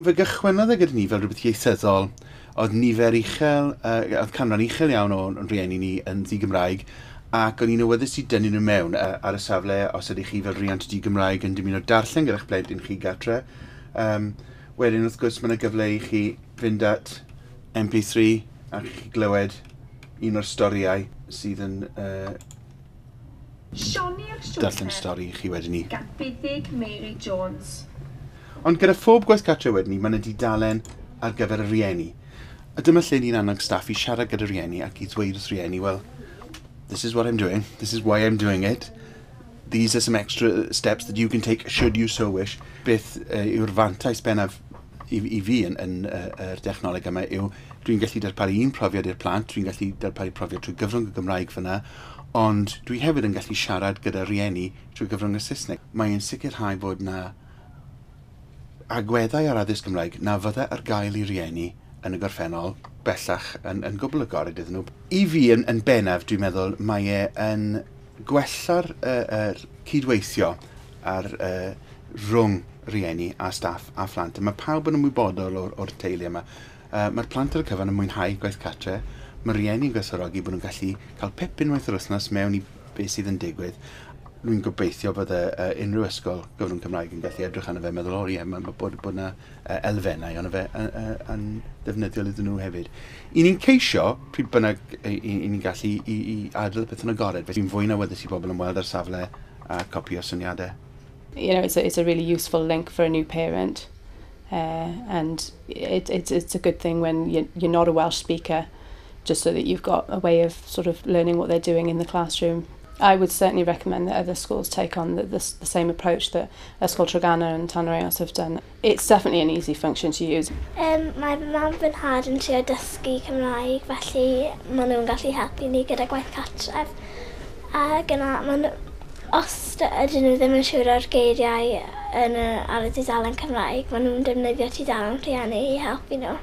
Fe gychwynnodd e gyda ni fel rhywbeth ieithyddol, oedd nifer uchel, oedd canran uchel iawn o'n rhieni ni yn ddi-Gymraeg, ac o'n i'n awyddus i dynnu nhw mewn ar y safle os ydych chi fel rhiant di-Gymraeg yn dymuno darllen gyda'ch plentyn chi gatre. Wedyn wrth gwrs mae yna gyfle i chi fynd at MP3 a chi glywed un o'r storïau sydd yn Sioni'r darllen Siwrne stori i chi wedyn ni. Gan Buddug Mary Jones. Ond gyda phob gwaith cartre wedyn ni, mae yna dudalen ar gyfer y rhieni. A dyma lle ni'n annog staff i siarad gyda rhieni ac i ddweud wrth rhieni, "Well, this is what I'm doing, this is why I'm doing it. These are some extra steps that you can take should you so wish." Beth yw'r fantais bennaf i fi yn yr dechnoleg yma yw dwi'n gallu darparu un profiad i'r plant, dwi'n gallu darparu profiad trwy gyfrwng y Gymraeg fyna, ond dwi hefyd yn gallu siarad gyda rhieni trwy gyfrwng y Saesneg. Mae'n sicrhau bod na agweddau ar addysg Gymraeg na fydde ar gael i rieni yn y gorffennol bellach yn gwbl agored iddyn nhw. I fi yn bennaf, dwi'n meddwl, mae e yn gwella'r cydweithio ar rhwng rieni a staff a phlant. A mae pawb yn ymwybodol o'r teulu yma. Mae'r plant ar y cyfan yn mwynhau gwaith cartre. Mae rieni yn gwerthfawrogi bod nhw'n gallu cael pip unwaith yr wythnos mewn i beth sydd yn digwydd. Dwi'n gobeithio bod unrhyw ysgol gyfrwng Cymraeg yn gallu edrych arno fe a meddwl, "O ie, mae bod na elfennau ond fe yn ddefnyddiol iddyn nhw hefyd." I ni'n ceisio, pryd bynnag i ni'n gallu i adael y peth yn agored, felly fi'n fwy na awyddus i bobl ymweld ar safle a copio syniadau. It's a really useful link for a new parent. And it's a good thing when you're not a Welsh speaker, just so that you've got a way of sort of learning what they're doing in the classroom. I would certainly recommend that other schools take on the same approach that Ysgol Treganna and Tanyreos have done. It's definitely an easy function to use. Mae fy mam fy nhad yn trio dysgu Cymraeg, felly maen nhw'n gallu helpu ni gyda gwaith cartref. A gyna, maen nhw, os ydyn nhw ddim yn siŵr o'r geiriau ar y tudalen Cymraeg, maen nhw'n defnyddio tudalen rhieni i helpu nhw.